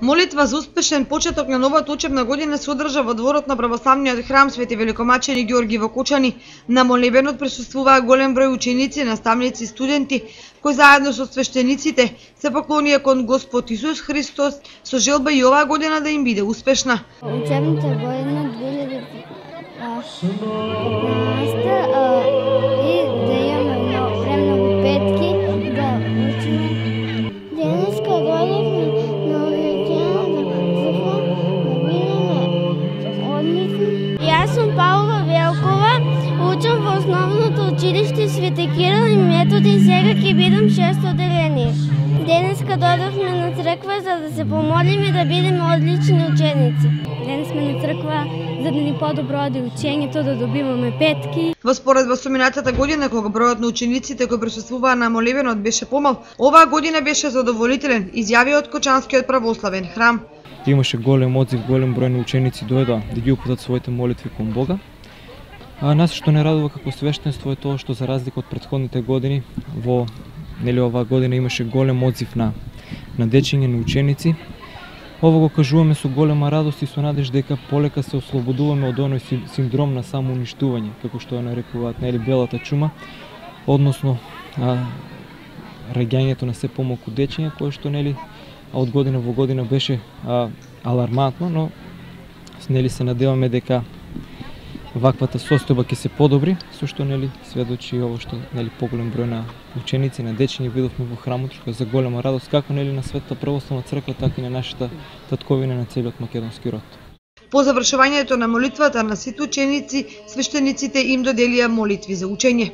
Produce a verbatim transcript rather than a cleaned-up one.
Молитва за успешен почеток на новата учебна година се одржа во дворот на православниот храм Свети Великомачени Ѓорги во Кочани. На молебенот присуствуваа голем број ученици, наставници и студенти, кои заедно со свештениците се поклонија кон Господ Исус Христос со желба и оваа година да им биде успешна. Учебната година две илјади петнаесета и да имаме премногу петки, да учиме. Денеска дојдовме на увеличената црква да бидеме одлични. Јас сум Паула Велкова, учам во основното училиште Свети Кирил и Методи, сега ќе бидам шесто одделение. Денеска дојдовме на црква за да се помолиме да бидеме одлични ученици. Денес сме на црква за да ни подобро оди учењето, да добиваме петки. Во споредба со минатата година, кога бројот на учениците кои присуствуваа на молебенот беше помал, оваа година беше задоволителен, изјави од Кочанскиот православен храм. Имаше голем одзив, голем број на ученици дојдоа да ги упатат своите молитви кон Бога. А нас што не радува како свештенство е тоа што за разлика од претходните години, во нели оваа година имаше голем одзив на на дечиња, на ученици. Ово го кажуваме со голема радост и со надеж дека полека се ослободуваме од оној синдром на самоуништување, како што ја нарекуваат нели белата чума, односно а, раѓањето на се помалку дечиња, кое што нели а од година во година беше а, алармантно, но нели се надеваме дека ваквата состојба ќе се подобри, со што нели сведочи ово што нели поголем број на ученици, на дечиња видовме во храмот, што е за голема радост како нели на Светата православна црква, така и на нашата татковина, на целиот македонски род. По завршувањето на молитвата на сите ученици, свештениците им доделија молитви за учење.